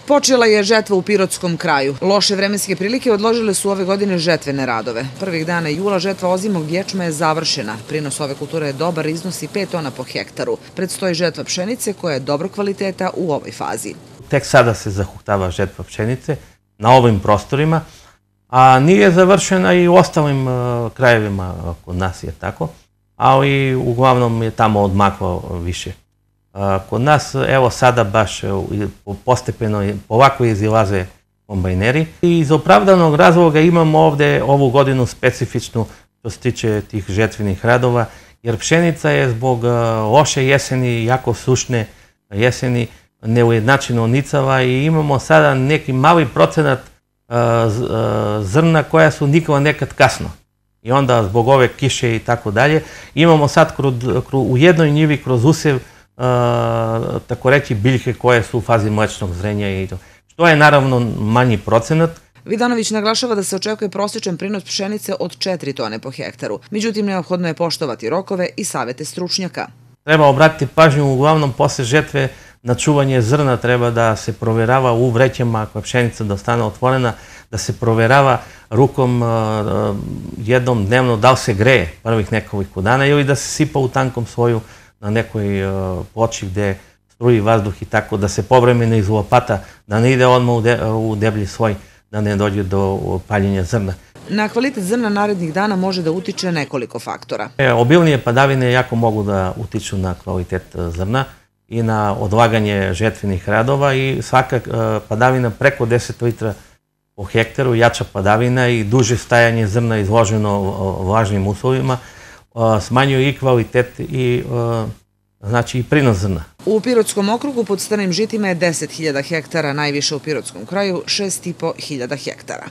Počela je žetva u Pirotskom kraju. Loše vremenske prilike odložile su ove godine žetvene radove. Prvih dana jula žetva ozimog ječma je završena. Prinos ove kulture je dobar, iznosi 5 tona po hektaru. Predstoji žetva pšenice koja je dobro kvaliteta u ovoj fazi. Tek sada se zahuktava žetva pšenice na ovim prostorima, a nije završena i u ostalim krajevima kod nas je tako, ali uglavnom je tamo odmaklo više. Kod nas, evo sada baš postepeno polako izilaze kombajneri i iz opravdanog razloga imamo ovdje ovu godinu specifičnu što se tiče tih žetvenih radova, jer pšenica je zbog loše jeseni, jako sušne jeseni, neujednačeno nicava i imamo sada neki mali procenat zrna koja su nikla nekad kasno. I onda zbog ove kiše i tako dalje imamo sad u jednoj njivi kroz usjev tako reći biljke koje su u fazi mlečnog zrenja i to. Što je naravno manji procenat. Vidanović naglašava da se očekuje prosječan prinos pšenice od 4 tone po hektaru. Međutim, neophodno je poštovati rokove i savete stručnjaka. Treba obratiti pažnju uglavnom posle žetve na čuvanje zrna, treba da se provjerava u vrećama ako je pšenica da ostane otvorena, da se provjerava rukom jednom dnevno da li se greje prvih nekoliko dana ili da se sipa u tankom sloju na nekoj ploči gdje struji vazduh i tako, da se povremeno iz lopata, da ne ide odmah u deblji sloj, da ne dođe do paljenja zrna. Na kvalitet zrna narednih dana može da utiče nekoliko faktora. Obilnije padavine jako mogu da utiču na kvalitet zrna i na odlaganje žetvenih radova i svaka padavina preko 10 litra po hektaru, jača padavina i duže stajanje zrna izloženo vlažnim uslovima, smanjuje i kvalitet i znači i prinos zrna. U Pirotskom okrugu pod strnim žitima je 10.000 hektara, najviše u Pirotskom kraju 6.500 hektara.